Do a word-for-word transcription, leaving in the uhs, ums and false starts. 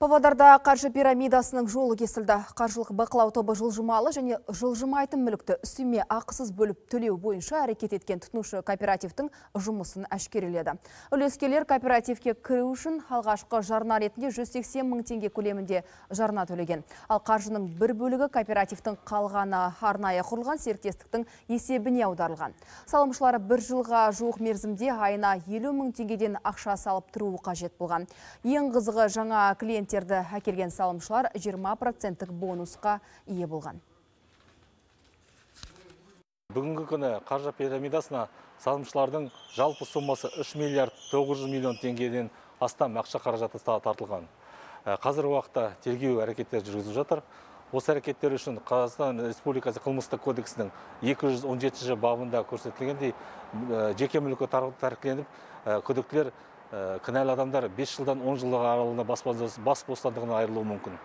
Павлодарда қаржы пирамидасының жолы кесілді. Қаржылық бақылау тобы жылжымалы және жылжымайтын мүлікті үстеме ақысыз бөліп төлеу бойынша әрекет еткен тұтынушы кооперативтің жұмысын әшкереледі. Үлескерлер кооперативке кіру үшін алғашқы жарна ретінде жүз сексен мың теңге көлемінде жарна төлеген. Ал қаржының бір бөлігі кооперативтің қалғаны арнайы құрылған серіктестіктің есебіне аударылған. Салымшылары бір жылға жуық мерзімде айына елу мың теңгеден ақша салып тұруы қажет болған. Ең қызығы, жаңа клиент әкелген салымшылар жиырма проценттік бонусқа ие болған. Бүгінгі күні қаржы пирамидасына салымшылардың жалпы сомасы үш миллиард тоғыз жүз миллион теңгеден астам ақша қаражаты тартылған. Қазір уақытта тергеу әрекеттер жүргізіліп жатыр. Осы әрекеттер үшін Қазақстан Республикасы қылмыстық кодексінің екі жүз он жетінші бабында көрсетілгендей жеке мүлкі тәркіленіп, күдіктілер кінәлі адамдар бес жылдан он жылға аралығында бас бостандығынан айырылуы мүмкін.